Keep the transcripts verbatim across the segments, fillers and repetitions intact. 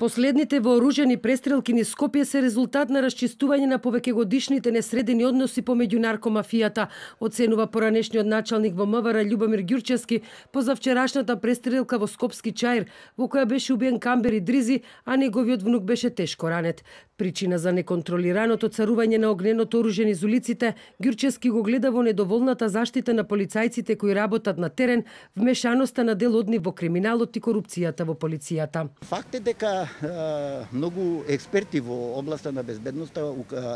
Последните вооружени престрелки низ Скопје се резултат на расчистување на повеќегодишните несредени односи помеѓу наркомафијата, оценува поранешниот началник во МВР Љубомир Ѓурчевски по завчерашната престрелка во Скопски Чаир, во која беше убиен Камбер Идризи, а неговиот внук беше тешко ранет. Причина за неконтролираното царување на огненото оружје низ улиците, Ѓурчевски го гледа во недоволната заштита на полицајците кои работат на терен, вмешаноста на дел од нив во криминалот и корупцијата во полицијата. Факт е дека многу експерти во областа на безбедноста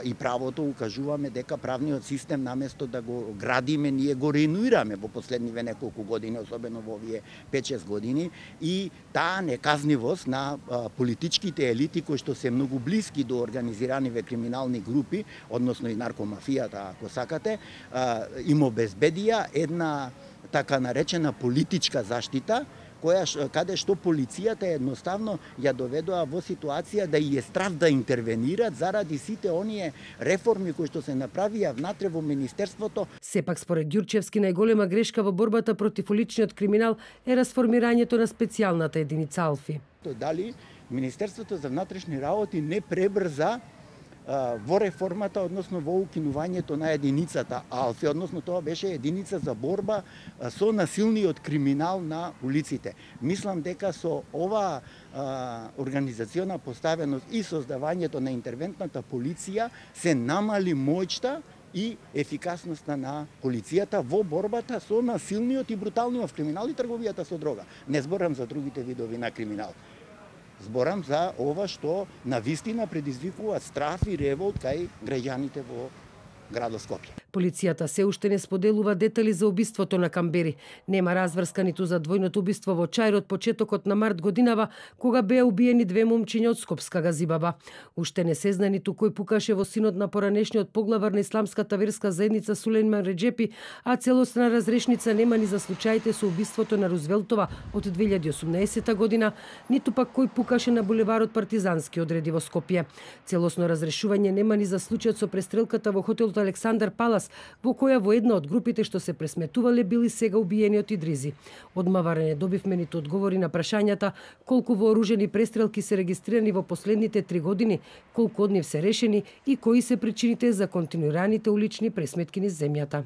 и правото укажуваме дека правниот систем наместо да го градиме, ние го ренуираме во последниве неколку години, особено во овие пет-шест години, и таа неказнивост на политичките елити кои што се многу блиски до организираниве криминални групи, односно и наркомафијата, ако сакате, им обезбедија една така наречена политичка заштита, која каде што полицијата едноставно ја доведоа во ситуација да и е страв да интервенираат заради сите оние реформи кои што се направија внатре во министерството. Сепак според Ѓурчевски најголема грешка во борбата против уличниот криминал е расформирањето на специјалната единица Алфи. Дали Министерството за внатрешни работи не пребрза во реформата, односно во укинувањето на единицата Алфи, односно тоа беше единица за борба со насилниот криминал на улиците. Мислам дека со ова организациона поставеност и создавањето на интервентната полиција се намали моќта и ефикасноста на полицијата во борбата со насилниот и бруталниот криминал и трговијата со дрога. Не зборам за другите видови на криминал. Зборам за ова што навистина предизвикува страв и револт кај граѓаните во градот Скопје. Полицијата се уште не споделува детали за убиството на Камбери. Нема разврска ниту за двојното убиство во Чаир од почетокот на март годинава, кога беа убиени две момчиња од Скопска Газибаба. Уште не се знае ниту кој пукаше во синот на поранешниот поглавар на исламската верска заедница Сулејман Реџепи, а целосна разрешница нема ни за случаите со убиството на Рузвелтова од две илјади и осумнаесета година, ниту пак кој пукаше на булеварот Партизански одреди во Скопје. Целосно разрешување нема ни за случајот со престрелката во хотелот Александар Палас, во која во една од групите што се пресметувале били сега убиениот Идризи. Од МВР не добивме ниту одговори на прашањата колку вооружени престрелки се регистрирани во последните три години, колку од нив се решени и кои се причините за континуираните улични пресметки низ земјата.